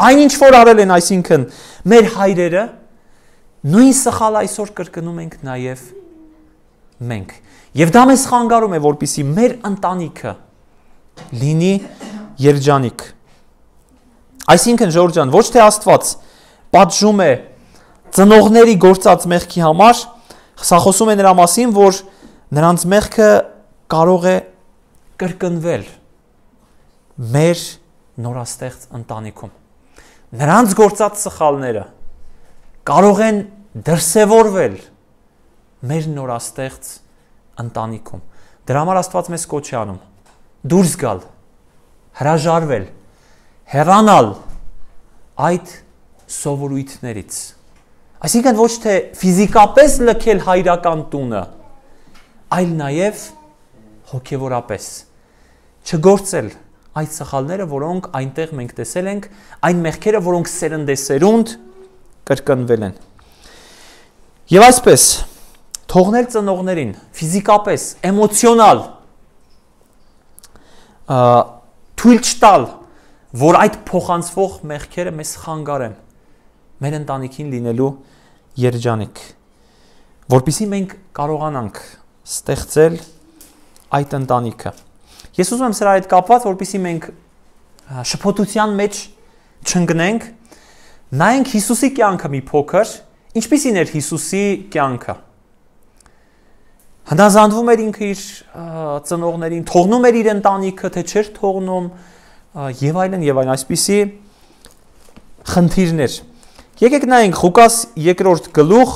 Այն ինչ որ արել են, այսինքն մեր հայրերը, նույն սխալը այսօր կրկնում ենք նաև մենք։ Եվ դա մեզ խանգարում է, որպեսզի մեր ընտանիքը լինի երջանիկ։ Այսինքն ժողովուրդ ջան, ոչ թե Աստված պատժում է ծնողների գործած մեղքի համար, սա խոսում է նրա մասին, որ նրանց մեղքը կարող է կրկնվել մեր նորաստեղծ ընտանիքում։ Նրանց գործած սխալները կարող են դրսևորվել մեր նորաստեղծ ընտանիքում։ Դրա համար Աստված մեզ կոչ է անում դուրս գալ հրաժարվել, հեռանալ այդ սովորույթներից։ Այսինքն ոչ թե ֆիզիկապես լքել հայրական տունը, այլ նաև հոգևորապես չգործել այդ սխալները, որոնք այնտեղ մենք տեսել ենք, այն մեղքերը, որոնք սերնդեսերունդ կրկնվել են։ Եվ այսպես, թողնել ծնողներին, ֆիզիկապես, էմոցիոնալ, թույլ չտալ, որ այդ փոխանցվող մեղքերը մեզ խանգարեն, մեր ընտանիքին լինելու երջանիկ, որպեսզի մենք կարողանանք ստեղծել այդ ընտանիքը։ Ես ուզում եմ սրա հետ կապված, որպեսզի մենք շփոթության մեջ չընկնենք, նայենք Հիսուսի կյանքը մի փոքր, ինչպիսին էր Հիսուսի կյանքը։ Հնազանդվում էր ինքը իր ծնողներին, թողնում էր իր ընտանիքը, թե չէր թողնում, եւ այլն եւ այլն, այսպիսի խնդիրներ։ Եկեք նայենք Ղուկաս երկրորդ գլուխ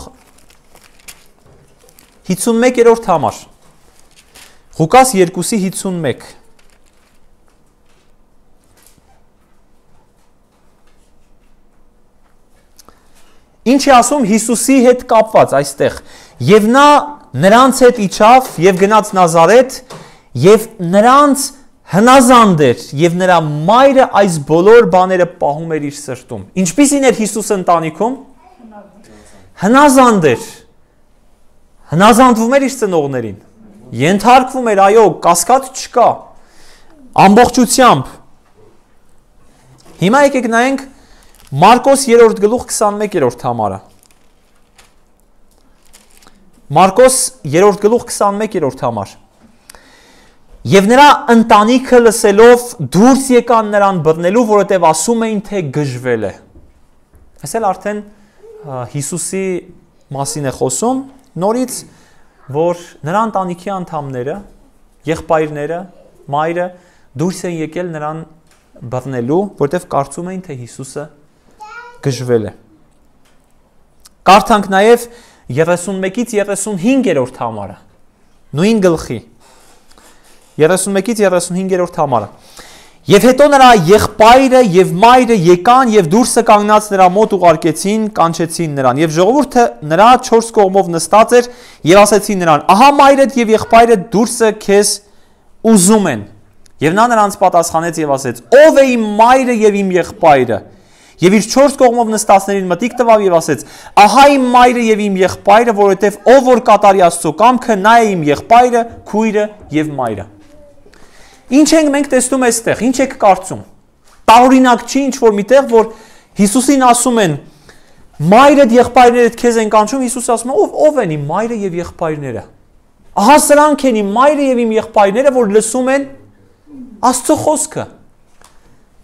հիսունմեկերորդ համար։ Ղուկաս երկուսի հիսունմեկ։ Ինչ է ասում Հիսուսի հետ կապված այստեղ։ Եվ նա նրանց հետ իջավ եւ գնաց Նազարեթ եւ նրանց հնազանդ էր եւ նրա մայրը այս բոլոր բաները պահում էր իր սրտում։ Ինչպիսին էր Հիսուսը ընտանիքում։ Հնազանդ էր։ Հնազանդվում էր իր ծնողներին։ Ենթարկվում էր, այո, կասկած չկա։ Ամբողջությամբ։ Հիմա եկեք նայենք Մարկոս երրորդ գլուխ քսանմեկերորդ համարը։ Մարկոս երրորդ գլուխ քսանմեկերորդ համար։ Եվ նրա ընտանիքը լսելով դուրս եկան նրան բռնելու, որովհետև ասում էին, թե գժվել է։ Այսել արդեն Հիսուսի մասին է խոսում, նորից, որ նրա ընտանիքի անդամները, եղբայրները, մայրը դուրս են եկել նրան բռնելու, որովհետև կարծում էին, թե Հիսուսը գժվել է։ Կարդանք նաև երեսունմեկից երեսունհինգերորդ համարը, նույն գլխի, երեսունմեկից երեսունհինգերորդ համարը։ Եվ հետո նրա եղբայրը եւ մայրը եկան եւ դուրսը կանգնած նրա մոտ ուղարկեցին, կանչեցին նրան։ Եվ ժողովուրդը նրա չորս կողմով նստած էր եւ ասեցին նրան. «Ահա մայրդ եւ եղբայրդ դուրսը քեզ ուզում են»։ Եվ նա նրանց պատասխանեց եւ ասեց. «Ո՞վ է իմ մայրը եւ իմ եղբայրը»։ Եվ իր չորս կողմով նստածներին մտիկ տվավ եւ ասեց. «Ահա իմ մայրը եւ իմ եղբայրը, որովհետեւ ով որ կատարի Աստծո կամքը, նա է իմ եղբայրը, քույրը եւ մայրը»։ Ինչ ենք մենք տեսնում այստեղ, ինչ եք կարծում։ Տարօրինակ չի ինչ որ միտեղ, որ Հիսուսին ասում են մայրդ եղբայրներդ քեզ են կանչում, Հիսուսը ասում է ով ով են իմ մայրը եւ եղբայրները։ Ահա սրանք են իմ մայրը եւ իմ եղբայրները, որ լսում են Աստծո խոսքը։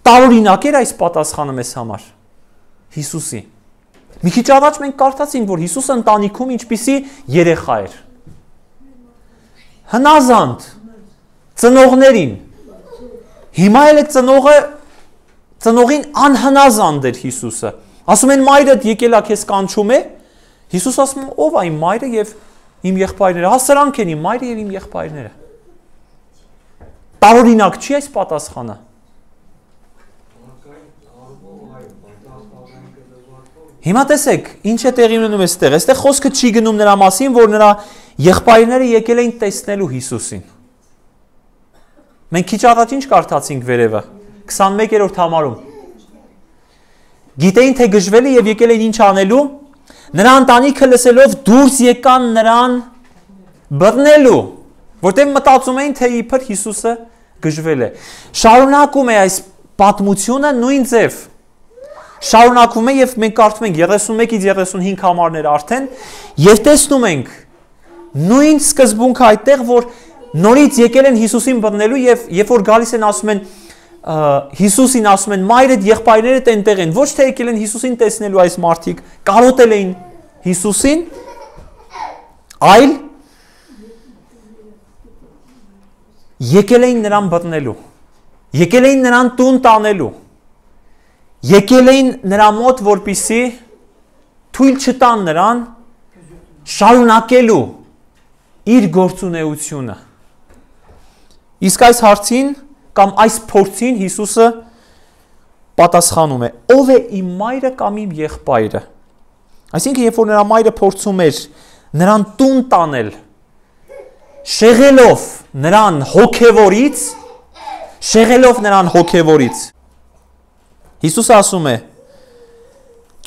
Տարօրինակ էր այս պատասխանը մեզ համար Հիսուսի։ Մի քիչ առաջ մենք կարդացինք, որ Հիսուսը ընտանիքում ինչպիսի երեխա էր։ Հնազանդ ծնողներին։ Հիմա էլ է ծնողը ծնողին անհնազանդ էր Հիսուսը։ Ասում են մայրդ եկել է քեզ կանչում է։ Հիսուս ասում է ով է իմ մայրը եւ իմ եղբայրները։ Հա սրանք են իմ մայրը եւ իմ եղբայրները։ Տարօրինակ չի այս պատասխանը։ Հիմա տեսեք, ինչ է տեղի ունենում այստեղ։ Այստեղ խոսքը չի գնում նրա մասին, որ նրա եղբայրները եկել էին տեսնելու Հիսուսին։ Մենք քիչ առաջ ինչ կարդացինք վերևը, քսանմեկերորդ համարում։ Գիտեին, թե գժվել է եւ եկել էին ինչ անելու։ Նրա ընտանիքը լսելով դուրս եկան նրան բռնելու, որտեղ մտածում էին, թե իբր Հիսուսը գժվել է։ Շարունակում է այս պատմությունը նույն ձև։ Շարունակվում է եւ մենք կարդում ենք երեսունմեկից երեսունհինգ համարները արդեն եւ տեսնում ենք նույն սկզբունքը այդտեղ, որ նորից եկել են Հիսուսին բռնելու եւ երբ որ գալիս են ասում են Հիսուսին ասում են մայրդ եղբայրներդ այնտեղ են, ոչ թե եկել են Հիսուսին տեսնելու այս մարդիկ, կարոտել էին Հիսուսին, այլ եկել էին նրան բռնելու, եկել էին նրան տուն տանելու, եկել էին նրա մոտ, որպիսի թույլ չտան նրան շարունակելու իր գործունեությունը։ Իսկ այս հարցին կամ այս փորձին Հիսուսը պատասխանում է. ով է իմ մայրը կամ իմ եղբայրը։ Այսինքն, երբ որ նրա մայրը փորձում էր նրան տուն տանել, շեղելով նրան հոգևորից, շեղելով նրան հոգևորից, Հիսուսը ասում է.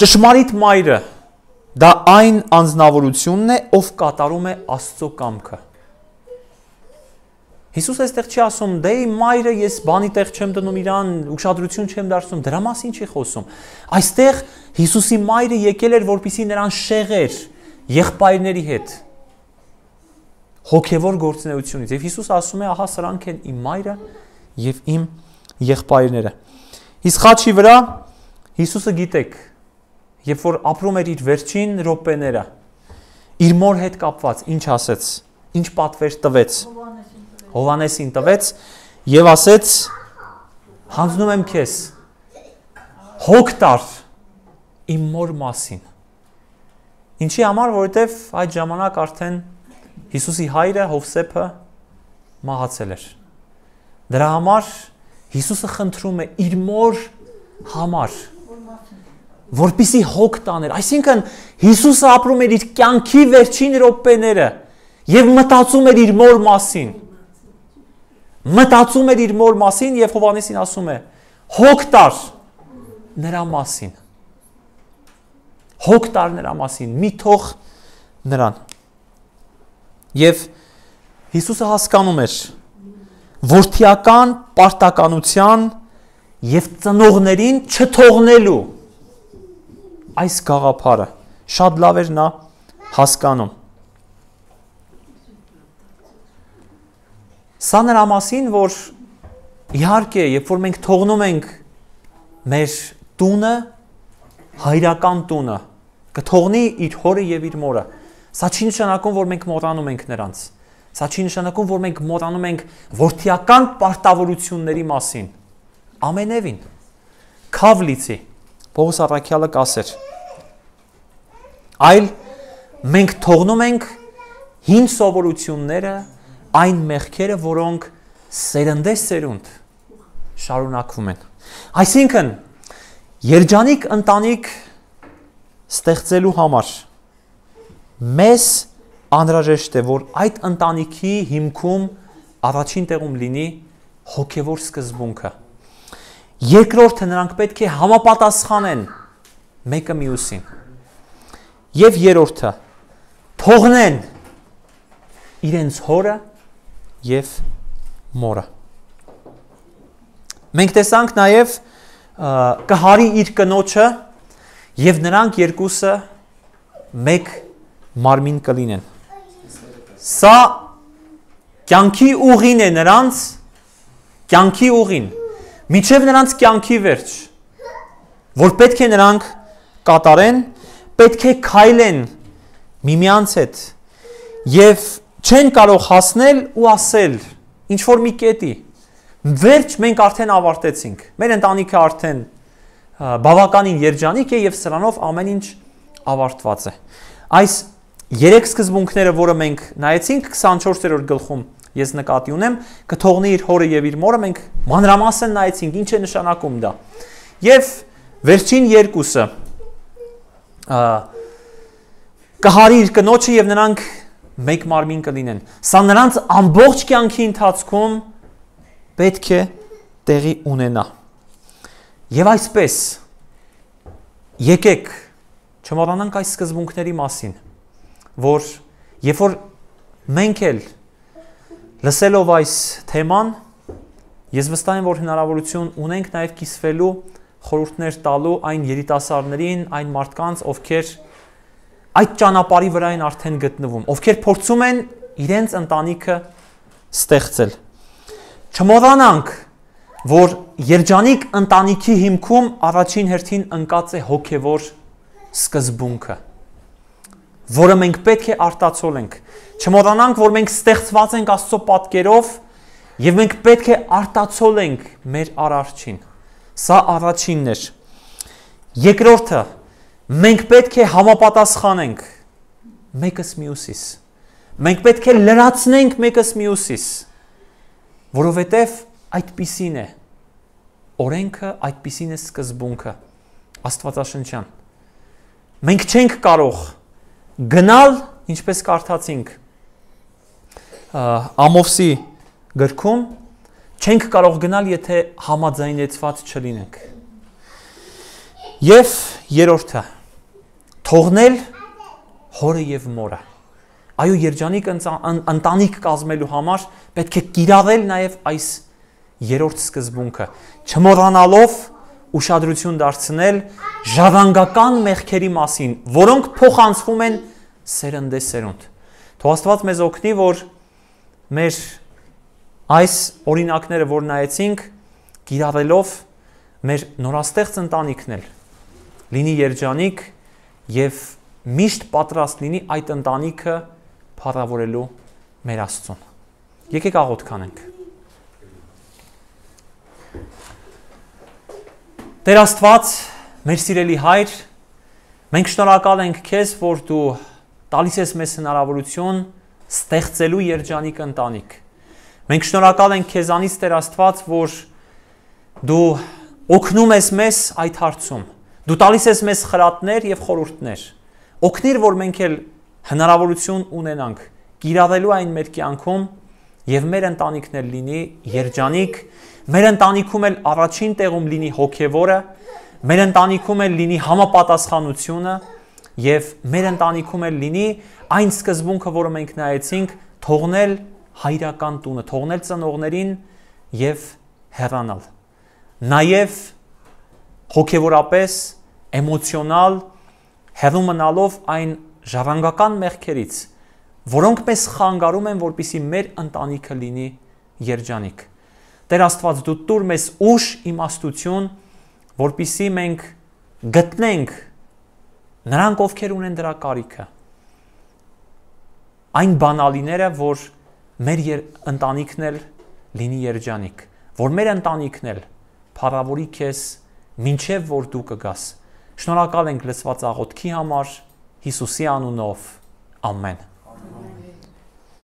ճշմարիտ մայրը դա այն անձնավորությունն է, ով կատարում է Աստծո կամքը։ Հիսուսը այստեղ չի ասում, դե իմ մայրը ես բանի տեղ չեմ դնում իրան, ուշադրություն չեմ դարձնում, դրա մասին չի խոսում։ Այստեղ Հիսուսի մայրը եկել էր, որպեսզի նրան շեղեր եղբայրների հետ հոգևոր գործունեությունից։ Եվ Հիսուսը ասում է, ահա սրանք են իմ մայրը եւ իմ եղբայրները։ Իսկ խաչի վրա Հիսուսը գիտեք, երբ որ ապրում էր իր վերջին րոպեները, իր մոր հետ կապված, ինչ ասեց, ինչ պատվեր տվեց, Հովանեսին տվեց եւ ասեց. հանձնում եմ քեզ հոգ տար իմ մոր մասին։ Ինչի համար, որովհետեւ այդ ժամանակ արդեն Հիսուսի հայրը Հովսեփը մահացել էր։ Դրա համար Հիսուսը խնդրում է իր մոր համար, որպեսզի հոգ տաներ։ Այսինքն Հիսուսը ապրում էր իր կյանքի վերջին րոպեները եւ մտածում էր իր մոր մասին։ Մտածում էր իր մոր մասին եւ Հովանեսին ասում է. հոգ տար նրա մասին։ Հոգ տար նրա մասին, մի թող նրան։ Եվ Հիսուսը հասկանում էր որդիական պարտականության եւ ծնողներին չթողնելու այս գաղափարը շատ լավ էր նա հասկանում։ Սա նրա մասին, որ իհարկե, երբ որ մենք թողնում ենք մեր տունը, հայրական տունը, կթողնի իր հորը եւ իր մորը։ Սա չի նշանակում, որ մենք մոռանում ենք նրանց։ Սա չի նշանակում, որ մենք մոռանում ենք որդիական պարտավորությունների մասին։ Ամենևին քավլիցի Պողոս առաքյալը կասեր։ Այլ մենք թողնում ենք հին սովորությունները, այն մեղքերը, որոնք սերնդեսերունդ շարունակվում են։ Այսինքն, երջանիկ ընտանիք ստեղծելու համար մեզ անհրաժեշտ է, որ այդ ընտանիքի հիմքում առաջին տեղում լինի հոգևոր սկզբունքը։ Երկրորդը նրանք պետք է համապատասխանեն մեկը մյուսին։ Եվ երրորդը թողնեն իրենց հորը եւ մորը։ Մենք տեսանք նաեւ կհարի իր կնոջը եւ նրանք երկուսը մեկ մարմին կլինեն։ Սա կյանքի ուղին է նրանց, կյանքի ուղին, միջև նրանց կյանքի վերջ, որ պետք է նրանք կատարեն, պետք է քայլեն միմյանց հետ եւ չեն կարող հասնել ու ասել ինչ որ մի կետի վերջ մենք արդեն ավարտեցինք, մեր ընտանիքը արդեն բավականին երջանիկ է եւ սրանով ամեն ինչ ավարտված է։ Այս երեք սկզբունքները, որը մենք նայեցինք քսանչորսերորդ գլխում, ես նկատի ունեմ, կթողնի իր հորը եւ իր մորը, մենք մանրամասն նայեցինք ինչ է նշանակում դա։ Եվ վերջին երկուսը կհարի իր կնոջը եւ նրանք մեկ մարմին կլինեն։ Սա նրանց ամբողջ կյանքի ընթացքում պետք է տեղի ունենա։ Եվ այսպես եկեք չմոռանանք այս սկզբունքների մասին, որ երբ որ մենք էլ լսելով այս թեման, ես վստահ եմ, որ հնարավորություն ունենք նաև կիսվելու խորհուրդներ տալու այն երիտասարդներին, այն մարդկանց, ովքեր այդ ճանապարհի վրա են արդեն գտնվում, ովքեր փորձում են իրենց ընտանիքը ստեղծել։ Չմոռանանք, որ երջանիկ ընտանիքի հիմքում առաջին հերթին ընկած է հոգևոր սկզբունքը, որը մենք պետք է արտացոլենք։ Չմոռանանք, որ մենք ստեղծված ենք Աստծո պատկերով եւ մենք պետք է արտացոլենք մեր արարչին։ Սա առաջինն էր։ Երկրորդը, մենք պետք է համապատասխանենք մեկս մյուսիս։ Մենք պետք է լրացնենք մեկս մյուսիս, որովհետև այդպիսին է։ Օրենքը այդպիսին է սկզբունքը Աստվածաշնչյան։ Մենք չենք կարող գնալ, ինչպես կարդացինք Ամովսի գրքում, չենք կարող գնալ, եթե համաձայնեցված չլինենք։ Եվ երրորդը, թողնել հորը եւ մորը։ Այո, երջանիկ ընտանիք կազմելու համար պետք է կիրառել նաև այս երրորդ սկզբունքը, չմոռանալով ուշադրություն դարձնել ժառանգական մեղքերի մասին, որոնք փոխանցվում են սերնդե սերունդ։ Թող Աստված մեզ օգնի, որ մեր այս օրինակները, որ նայեցինք, կիրառելով մեր նորաստեղծ ընտանիքն էլ լինի երջանիկ եւ միշտ պատրաստ լինի այդ ընտանիքը փառավորելու մեր Աստծուն։ Եկեք աղոթք անենք։ Տեր Աստված, մեր սիրելի Հայր, մենք շնորհակալ ենք Քեզ, որ Դու տալիս ես մեզ հնարավորություն ստեղծելու երջանիկ ընտանիք։ Մենք շնորհակալ ենք Քեզանից, Տեր Աստված, որ Դու օգնում ես մեզ այդ հարցում։ Դու տալիս ես մեզ խրատներ եւ խորհուրդներ։ Օգնիր, որ մենք էլ հնարավորություն ունենանք կիրառելու այն մեր կյանքում եւ մեր ընտանիքն էլ լինի երջանիկ, մեր ընտանիքում էլ առաջին տեղում լինի հոգեվորը, մեր ընտանիքում էլ լինի համապատասխանությունը եւ մեր ընտանիքում էլ լինի այն սկզբունքը, որը մենք նայեցինք, թողնել հայրական տունը, թողնել ծնողներին եւ հեռանալ։ Նաեւ հոգեվորապես, էմոցիոնալ հեռու մնալով այն ժառանգական մեղքերից, որոնք մեզ խանգարում են, որպեսզի մեր ընտանիքը լինի երջանիկ։ Տեր Աստված, Դու տուր մեզ ուժ, իմաստություն, որպեսզի մենք գտնենք նրանք, ովքեր ունեն դրա կարիքը, այն բանալիները, որ մեր ընտանիքն էլ լինի երջանիկ, որ մեր ընտանիքն էլ փառավորի Քեզ, մինչև որ Դու կգաս։ Շնորհակալ ենք լսված աղոթքի համար, Հիսուսի անունով, ամեն։